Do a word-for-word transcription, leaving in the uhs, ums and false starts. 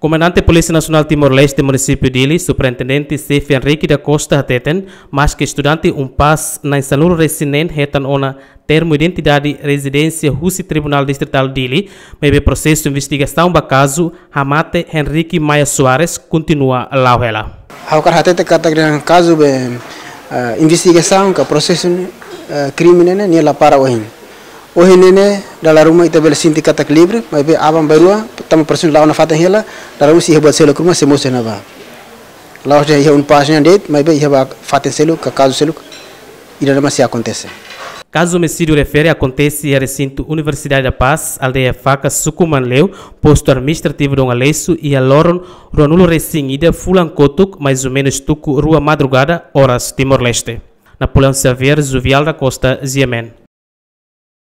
Komandante Polísia Nasionál Timor-Leste Munisípiu Dili, Superintendente Xefe Henrique da Costa hateten, maske estudante UNPAZ na'in-sanulu-resin-neen hetan ona termu identidade rezidénsia husi Tribunál Distritál Dili, maibé prosesu investigasaun ba kazu hamate Henrique Maia Soares kontinua la'o hela. Ha'u hakarak hatete katak kazu be, eh, investigasaun ka prosesu, eh, krime ne'e nia la para ohin. Ohin ne'e dala ruma ita bele sente katak livre, maibé aban-bainrua, tanba prosesu la'o nafatin hela, dala ruma sei iha buat seluk ruma sei mosu iha ne'ebá. La'ós de'it iha UNPAZ nian de'it, maibé iha ba fatin seluk, ka kazu seluk, ida-ne'e mak sei akontese. Kazu omisídiu refere akontese iha resintu Universidade da Paz, aldeia Faka, suku Manleu, postu administrativu Dom Aleixo, iha loron ruanulu-resin-ida fulan kotuk, mais ou menus tuku rua madrugada, oras Timor-Leste. Napoleão Xavier, Juvial da Costa, G M N.